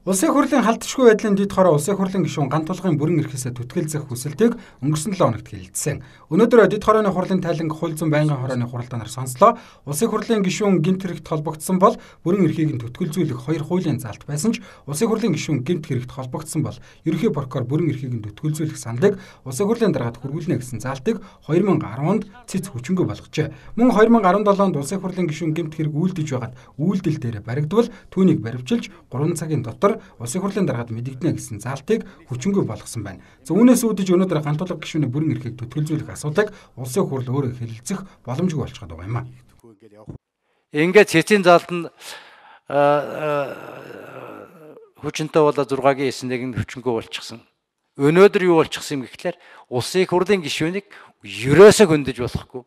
Улсын хурлын халдшгүй байдлын дэд хороо улсын хурлын гишүүн ганц тулгын бүрэн эрхээсээ түтгэлзэх хүсэлтийг өнгөрсөн 7 хоногт хэлэлцсэн. Өнөөдөр дэд хорооны хурлын тайланг хууль зүйн байнгын хорооны хуралдаанаар сонслоо. Улсын хурлын гишүүн гэмт хэрэгт холбогдсон бол бүрэн эрхийг нь түтгэлзүүлэх 2 хуулийн заалт байсан ч улсын хурлын гишүүн гэмт хэрэгт холбогдсон бол ерөнхий прокурор бүрэн эрхийг нь түтгэлзүүлэх саналыг улсын хурлын даргаад хүргүүлнэ гэсэн заалтыг 2010 онд цэц хүчингүй болгожээ. Мөн 2017 онд улсын хурлын гишүүн гэмт хэрэг үйлдэж байгаад үйлдэл дээр баригдвал түүнийг баривчилж 3 цагийн дотор улсын хурлын даргаад мэдэгдэнэ гэсэн заалтыг хүчингүй болгосон байна. Үүнээс үүдэж өнөөдөр ганц тулга гишүүний бүрэн эрхийг түтгэлзүүлэх асуудыг улсын хурл өөрөө хэлэлцэх боломжгүй болчиход байгаа юм аа. Ингээд цэцийн заалт нь хүчинтэй болоо 6-гийн 9-ийг нь хүчингүй болчихсон. Өнөөдөр юу болчихсон юм гэхлээр улсын хурлын гишүүнийг ерөөсөө хөндөж болохгүй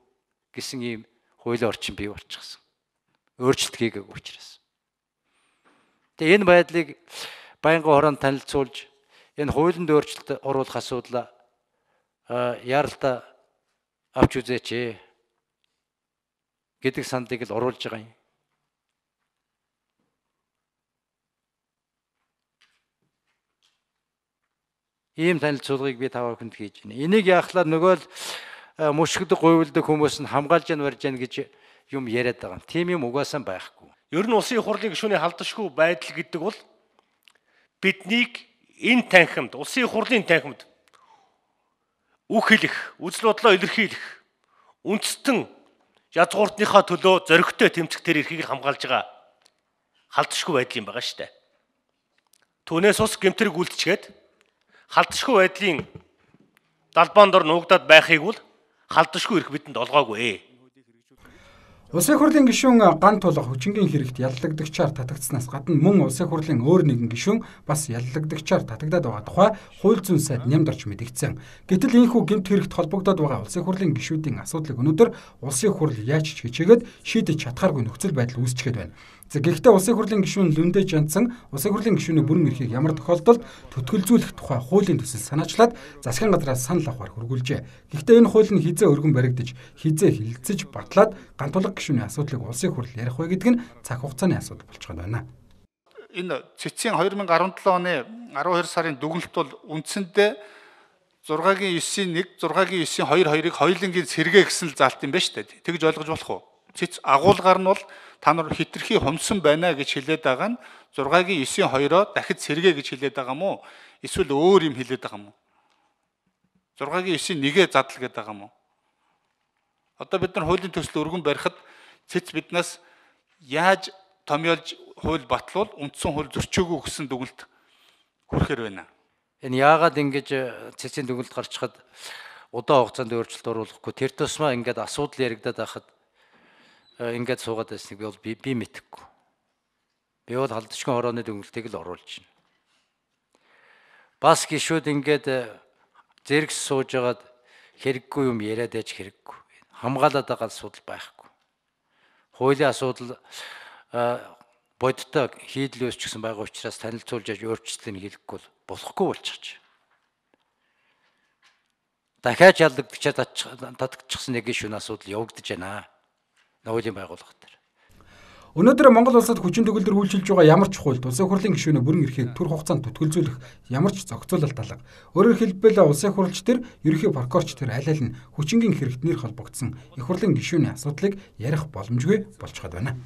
гэсэн ийм хуулийн орчин бий болчихсон. Өөрчлөлт хийгээгүй учраас. Тэгээ энэ байдлыг байнгын хороонд танилцуулж энэ хуулинд өөрчлөлт оруулах асуудлаа яаралтай авч үзээч гэдэг сандыг л оруулж байгаа юм. Ийм танилцуулгыг би таваа хүнд хийж байна. Энийг яахлаар нөгөө л мөшгөдөг гуйвалдаг хүмүүс нь хамгаалж барьж яана гэж юм яриад байгаа. Тийм юм угаасаа байхгүй. Ер нь улсын хурлын гишүүний халдшгүй байдал гэдэг бол биднийг энэ танхимд, улсын хурлын танхимд үг хэлэх, үзэл бодлоо илэрхийлэх, үндэстэн язгууртныхаа төлөө зоригтой тэмцэх тэр эрхийг хамгаалж байгаа халдшгүй байдал юм байгаа шүү дээ. Түүнээс ус гэмтрэг үлдчихэд халдшгүй байдлын далбаан дор нуугдаад байхыг бол халдшгүй эрх бидэнд олгоогүй. Улсын хурлын гишүүн ганц тулга хүчингийн хэрэгт яллагдагчаар татагдсанаас гадна мөн улсын хурлын өөр нэгэн гишүүн бас яллагдагчаар татагдаад байгаа тухай хууль зүйн сайд нямдарч мэдэгдсэн. Гэтэл ийхүү гэмт хэрэгт холбогдоод байгаа улсын хурлын гишүүдийн асуудлыг өнөөдөр улсын хурл яаж ч хичээгээд шийдэж чадхааргүй нөхцөл байдал үүсчихэд байна. Гэхдээ улсын хурлын гишүүн Лүндэ Жандсан улсын хурлын гишүүний бүрэн эрхийг ямар тохиолдолд түтгэлзүүлэх тухай хуулийн төсөл санаачлаад засгийн газраас санал авахар хүргүүлжээ. Гэхдээ энэ хууль нь хизээ өргөн баригдаж, хизээ хилцэж батлаад ганц тулга гишүүний асуудлыг улсын хурл ярих вэ гэдэг нь цаг хугацааны асуудал болчиход байна. Энэ цэцгийн 2017 оны 12 сарын дүгнэлт бол үндсэндээ 6-гийн 9-ийн 1, 6-гийн 9-ийн 2-2-ыг хоёулангийн сэргээ гэсэн л заалт юм байна шүү дээ. Тэгж ойлгож болох уу? Цэц агуулгаар нь бол та нар хитрхи хумсан байна гэж хэлээд байгаа нь 6-гийн 9-ийн 2-оо дахид сэргээ гэж хэлээд байгаа мó? Эсвэл өөр юм хэлээд байгаа мó? 6-гийн 9-ийн 1-ээ задал гэдэг байгаа мó? Одоо бид нар хуулийн төсөл өргөн барихад цэц биднээс яаж томьёолж хууль батлуул үндсэн хууль зөрчөөгүй гэсэн дүгнэлт хүрэхээр байна. Энэ яагаад ингэж цэцийн дүгнэлт гарч хад удаан хугацаанд өөрчлөлт оруулахгүй тэр тусмаа ингээд асуудал яригадаад байхад ингээд суугаад байсныг би мэдэхгүй. Би бол халдшгүй хорооны дүгнэлтийг л оруулж байна. Бас гишүүд ингээд зэрэгс сууж агаад хэрэггүй юм яриад байж хэрэггүй. Хамгаалаад байгаа асуудал байхгүй. Хуулийн асуудал бодтой хийдэл үүсч гисэн байгаа учраас танилцуулж яаж өөрчлөлтийг хийхгүй болохгүй болчихж. Дахиад ялдагчаар татчихсан нэг гишүүн асуудал явагдаж байна. Хуулийн байгууллага дээр. Өнөөдөр Монгол улсад хүчин төгөлдөр үйлчилж байгаа ямар ч хуульд улсын хурлын гишүүний бүрэн эрхийг түр хугацаанд түтгэлзүүлэх ямар ч зохицуулалт алга. Өөрөөр хэлбэл улсын хурлч төр, ерөнхий прокурорч төр аль аль нь хүчингийн хэрэгт нэр холбогдсон их хурлын гишүүний асуудлыг ярих боломжгүй болчиход байна.